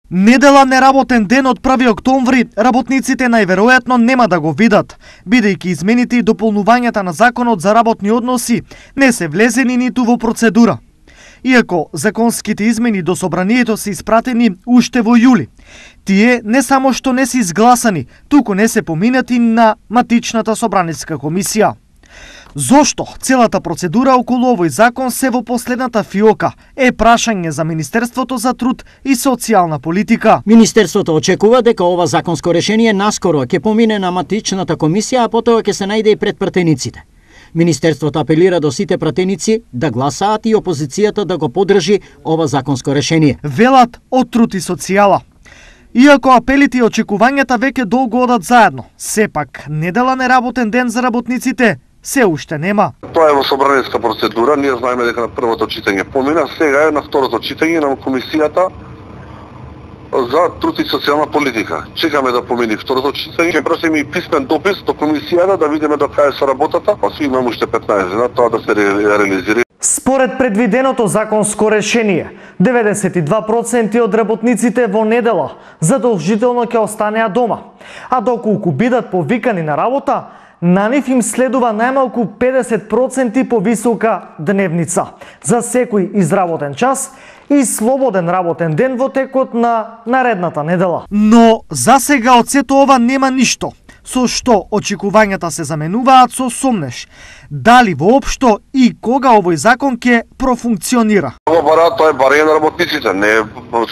Недела неработен ден од 1 октомври работниците најверојатно нема да го видат, бидејќи измените и дополнувањата на законот за работни односи не се влезени ниту во процедура. Иако законските измени до собранието се испратени уште во јули, тие не само што не се изгласани, туку не се поминати на матичната собраниска комисија. Зошто целата процедура околу овој закон се во последната фиока е прашање за Министерството за труд и социјална политика. Министерството очекува дека ова законско решение наскоро ќе помине на матичната комисија, а потоа ќе се најде и пред пратениците. Министерството апелира до сите пратеници да гласаат и опозицијата да го поддржи ова законско решение. Велат од труд и социјала. Иако апелите и очекувањата веќе долго одат заедно, сепак недела неработен ден за работниците се уште нема. Тоа е во собраниска процедура, ние знаеме дека на првото читање помина, сега е на второто читање на комисијата за труд и социјална политика. Чекаме да помини второто читање, ќе прашаме и писмен допис до комисијата да видиме до кај се работата, па си имаме уште 15 дена тоа да се реализира. Според предвиденото законско решение, 92% од работниците во недела задолжително ќе останеа дома, а доколку бидат повикани на работа, на нив им следува најмалку 50% повисока дневница за секој изработен час и слободен работен ден во текот на наредната недела. Но засега од сето ова нема ништо, со што очекувањата се заменуваат со сомнеш. Дали воопшто и кога овој закон ќе профункционира? Ова бара, тоа е барање на работниците, не е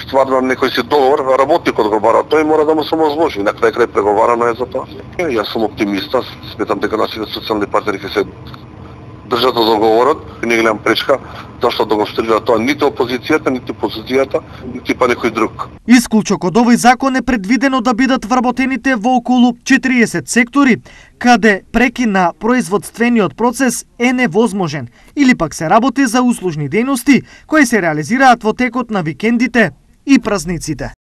ствар на некој си договор, работникот го бара, тој мора да му се возможи, на крај преговарано е за тоа. Јас сум оптимиста, сметам дека нашите социјални партнери ќе се држат до договорот, не гледам пречка, зашто да го стрелира тоа ниту опозицијата, ниту позицијата, ниту па некој друг. Исклучок од овој закон е предвидено да бидат вработените во околу 40 сектори, каде прекин на производствениот процес е невозможен, или пак се работи за услужни дејности кои се реализираат во текот на викендите и празниците.